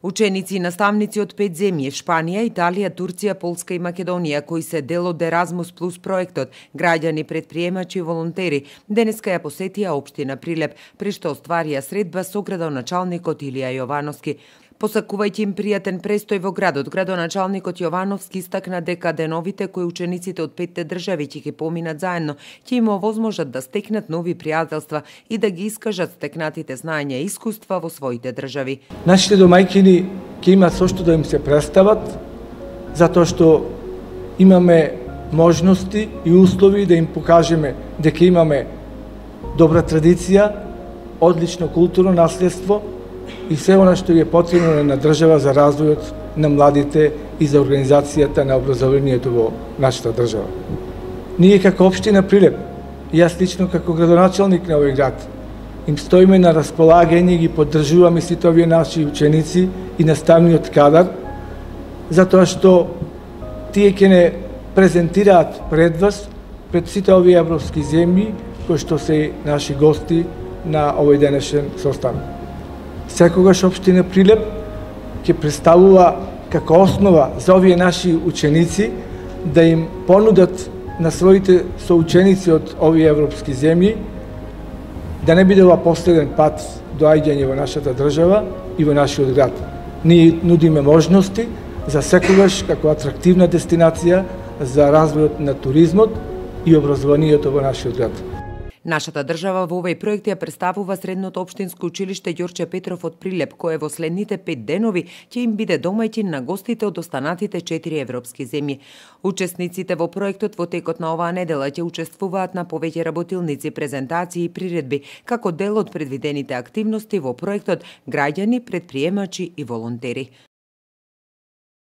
Ученици и наставници од 5 земји – Шпанија, Италија, Турција, Полска и Македонија, кои се дел од Еразмус плюс проектот, граѓани, предприемачи и волонтери, денеска ја посетија општина Прилеп, при што остварија средба со градоначалникот Илија Јовановски. Посакувајќи им пријатен престој во градот, градоначалникот Јовановски истакна дека деновите кои учениците од 5 држави ќе ги поминат заедно, ќе им овозможат да стекнат нови пријателства и да ги искажат стекнатите знаења и искуства во своите држави. Нашите домајќини ќе имат со што да им се представат, затоа што имаме можности и услови да им покажеме дека имаме добра традиција, одлично културно наследство и се она што е потребно на држава за развојот на младите и за организацијата на образованието во нашата држава. Ние како општина Прилеп, јас лично како градоначалник на овој град, им стоиме на располагање и ги поддржуваме сите овие наши ученици и наставниот кадар, затоа што тие ќе не презентираат пред вас, пред сите овие европски земји, кои што се наши гости на овој денешен состанок. Секогаш општина Прилеп ќе представува како основа за овие наши ученици да им понудат на своите соученици од овие европски земји да не биде ова последен пат доаѓање во нашата држава и во нашиот град. Ние нудиме можности за секогаш како атрактивна дестинација за развојот на туризмот и образованието во нашиот град. Нашата држава во овој проект ја представува Средното општинско училиште Ѓорче Петров од Прилеп, кое во следните 5 денови ќе им биде домаќин на гостите од останатите 4 европски земји. Учесниците во проектот во текот на оваа недела ќе учествуваат на повеќе работилници, презентации и приредби, како дел од предвидените активности во проектот граѓани, предприемачи и волонтери.